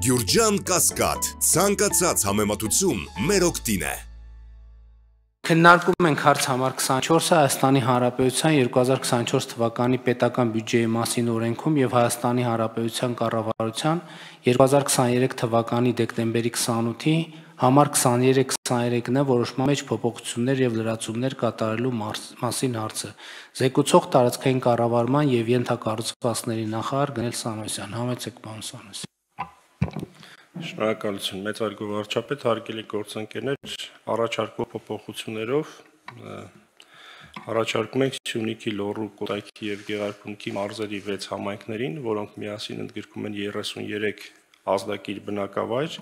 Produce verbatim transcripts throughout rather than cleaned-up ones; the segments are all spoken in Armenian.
Գյուրջան Կասկադ, ցանկացած համեմատություն մեր օգտին է։ Քննարկում ենք հարց համար քսանչորսը Հայաստանի Հանրապետության երկու հազար քսանչորս թվականի պետական բյուջեի մասին օրենքում եւ Հայաստանի Հանրապետության կառավարության երկու հազար քսաներեք թվականի դեկտեմբերի քսանութի համար քսաներեք քսաներեքն է որոշման մեջ փոփոխություններ եւ լրացումներ կատարելու մասին հարցը։ Զեկուցող տարածքային կառավարման եւ ենթակառուցվածքների նախարար Գնել Սանոսյան։ Համեցեք, պարոն Սանոսյան։ Շնորհակալություն, մեծարգո վարչապետ, հարգելի գործընկերներ, առաջարկվող փոփոխություններով առաջարկում ենք Սյունիքի, Լոռու, Կոտայքի եւ Գեղարքունիքի մարզերի վեց համայնքներին, որոնք միասին ընդգրկում են երեսուներեք ազդակիր բնակավայր,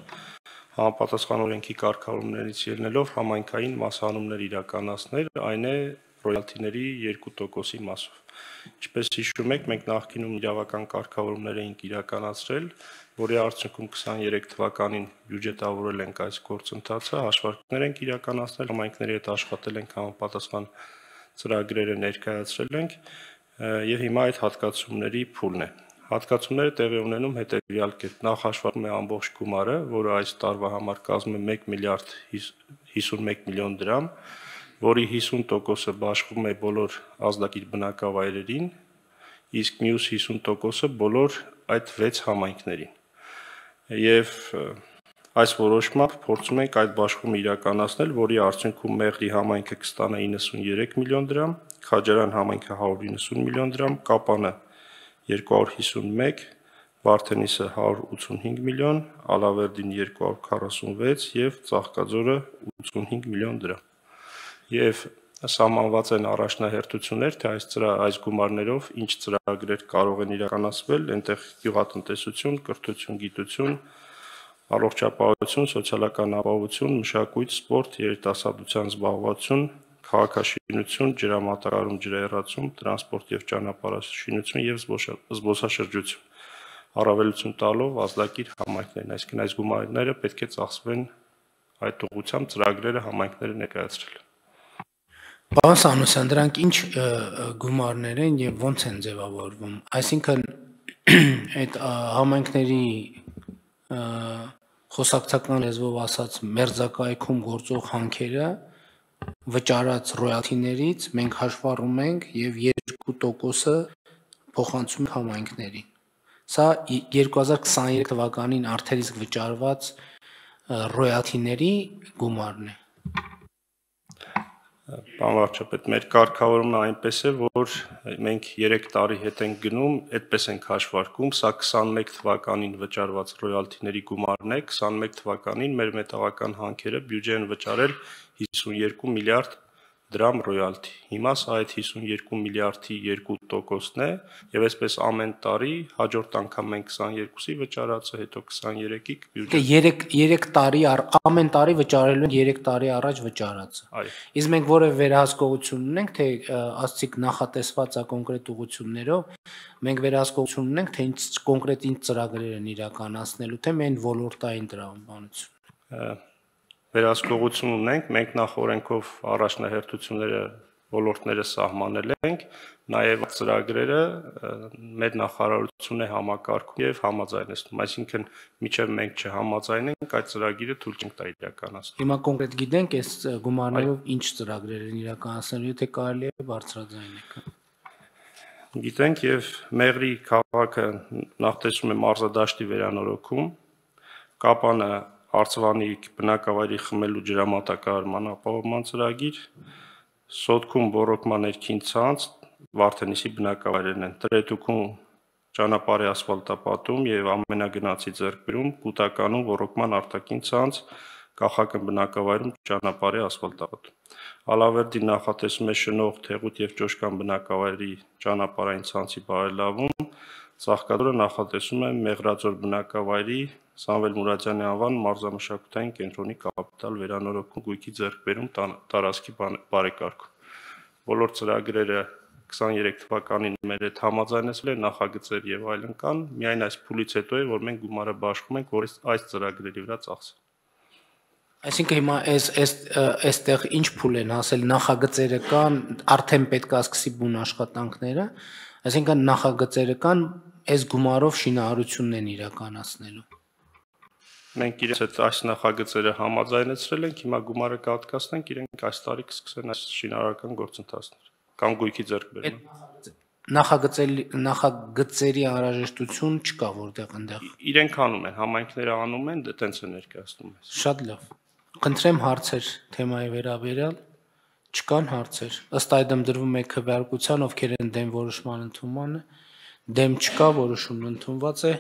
համապատասխան օրենքի կարգավորումներից ելնելով համայնքային մասհանումներ իրականացնել, այն է ռոյալթիների երկու տոկոսի մասով։ Ինչպես հիշում եք, մենք նախկինում իրավական կարգավորումներ էինք իրականացրել, որի արդյունքում քսաներեք թվականին բյուջետավորել ենք այս գործընթացը, հաշվարկներ ենք իրականացնել, համայնքների հետ աշխատել ենք, համապատասխան ծրագրերը ներկայացրել ենք եւ հիմա այդ հատկացումների փուլն է։ Հատկացումները տեղի ունենում հետեւյալ կերպ. Նախ հաշվարկում է ամբողջ գումարը, որը այս տարվա համար կազմում է մեկ միլիարդ հիսունմեկ միլիոն դրամ, որի հիսուն տոկոսը բաշխվում է բոլոր ազդակիր բնակավայրերին, իսկ մյուս հիսուն տոկոսը բոլոր այդ վեց համայնքներին։ Եվ այս որոշմամբ փորձում ենք այդ բաշխումը իրականացնել, որի արդյունքում Մեղրի համայնքը կստանա իննսուներեք միլիոն դրամ, Քաջարան համայնքը հարյուր իննսուն միլիոն դրամ, Կապանը երկու հարյուր հիսունմեկ, Վարդենիսը հարյուր ութսունհինգ միլիոն, Ալավերդին երկու հարյուր քառասունվեց եւ Ծաղկաձորը ութսունհինգ միլիոն դրամ։ Եվ սահմանված են առաջնահերթություններ, թե այս այս գումարներով ինչ ծրագրեր կարող են իրականացվել, այնտեղ գյուղատնտեսություն, կրթություն, գիտություն, առողջապահություն, սոցիալական ապահովություն, մշակույթ, սպորտ, երիտասարդության զբաղվածություն, քաղաքաշինություն, ջրամատակարարում, ջրահեռացում, տրանսպորտ եւ ճանապարհաշինություն եւ զբոսաշրջություն, առավելություն տալով ազդակիր համայնքներին, այսինքն այս գումարները պետք է ծախսվեն այդ ուղղությամբ ծրագրերը համայնքները ներկայացրել։ Պարոն Սանոսյան, դրանք ինչ գումարներ են եւ ո՞նց են ձևավորվում։ Այսինքն այդ համայնքների խոսակցական լեզվով ասած մերձակայքում գործող հանքերը վճարած ռոյալթիներից մենք հաշվառում ենք եւ երկու տոկոսը փոխանցում համայնքներին։ Սա երկու հազար քսաներեք թվականին արդեն իսկ վճարված ռոյալթիների գումարն է։ Պարոն վարչապետ, մեր կարգավորումը այնպես է, որ մենք երեք տարի հետ ենք գնում, այդպես ենք հաշվարկում, սա քսանմեկ թվականին վճարված ռոյալթիների գումարն է, քսանմեկ թվականին մեր մետաղական հանքերը բյուջե են վճարել հիսուներկու միլիարդ դրամ ռոյալթի։ Հիմա սա այդ հիսուներկու միլիարդի երկու տոկոսն է, եւ այսպես ամեն տարի հաջորդ անգամ մենք քսաներկուսի վճարածը, հետո քսաներեքի բյուջե։ երեք տարի ամեն տարի վճարելու են երեք տարի առաջ վճարածը։ Այո։ Իսկ մենք որևէ վերահսկողություն ունենք, թե ասցիք նախատեսված է կոնկրետ ուղղություններով, մենք վերահսկողություն ունենք, թե ինչ կոնկրետ ինչ ծրագրեր են իրականացնելու, թե միայն ոլորտային տրամաբանություն։ Վերահսկողություն ունենք, մենք նախ օրենքով առաջնահերթությունները ոլորտները սահմանել ենք, նաև ծրագրերը մեր նախարարությունն է համակարգում եւ համաձայնեցնում, այսինքն մինչեւ մենք չհամաձայնենք, այդ ծրագիրը թույլ չենք տա իրականացնել։ Հիմա կոնկրետ գիտենք այս գումարներով ինչ ծրագրեր են իրականացնելու, թե կարելի է բարձրաձայնել։ Գիտենք եւ Մեղրի քաղաքը նախ տեսնում է մարզադաշտի վերանորոգում, Կապանը Արցվանիկ բնակավայրի խմելու ջրամատակարարման ապահովման ծրագիր, Սոտքում ռոռոկման ներքին ցանց, Վարդենիսի բնակավայրերն են, Տրետուքում ճանապարհի ասֆալտապատում եւ ամենագնացի ձեռքբերում, Կուտականում ռոռոկման արտաքին ցանց, Կախակն բնակավայրում ճանապարհի ասֆալտապատում։ Ալավերդին նախատեսում է Շնող, Թեղուտ եւ Ճոշկան բնակավայրի ճանապարհային ցանցի բարելավում, Ծաղկաձորը նախատեսում է Մեղրաձոր բնակավայրի Սամվել Մուրադյանի անվան մարզամշակութային կենտրոնի կապիտալ վերանորոգում, գույքի ձեռքբերում, տարածքի բարեկարգում։ Բոլոր ծրագրերը քսաներեք թվականին մեր հետ համաձայնեցել են, նախագծեր եւ այլն կան, միայն այս փուլից հետո է, որ մենք գումարը բաշխում ենք, որ այս ծրագրերի վրա ծախսեն։ Այսինքն հիմա այս այստեղ ինչ փուլ են հասել, նախագծերը կան, արդեն պետք է սկսի բուն աշխատանքները, այսինքն նախագծերը կան, այս գումարով շինարարությունն են իրականացնելու։ Մենք իրենց հետ այս նախագծերը համաձայնեցրել ենք, հիմա գումարը կհատկացնենք, իրենք այս տարի կսկսեն այս շինարարական գործընթացները կամ գույքի ձեռքբերումը։ Նախագծերի նախագծերի անհրաժեշտություն չկա որտեղ այնտեղ։ Իրենք անում են, համայնքները անում են, դե տենց է ներկայացնում ես։ Շատ լավ։ Խնդրեմ հարցեր թեմայի վերաբերյալ։ Չկան հարցեր։ Ըստ այդմ դրվում է քվեարկության, ովքեր են դեմ որոշման ընդունմանը։ Դեմ չկա, որոշումն ընդունված է։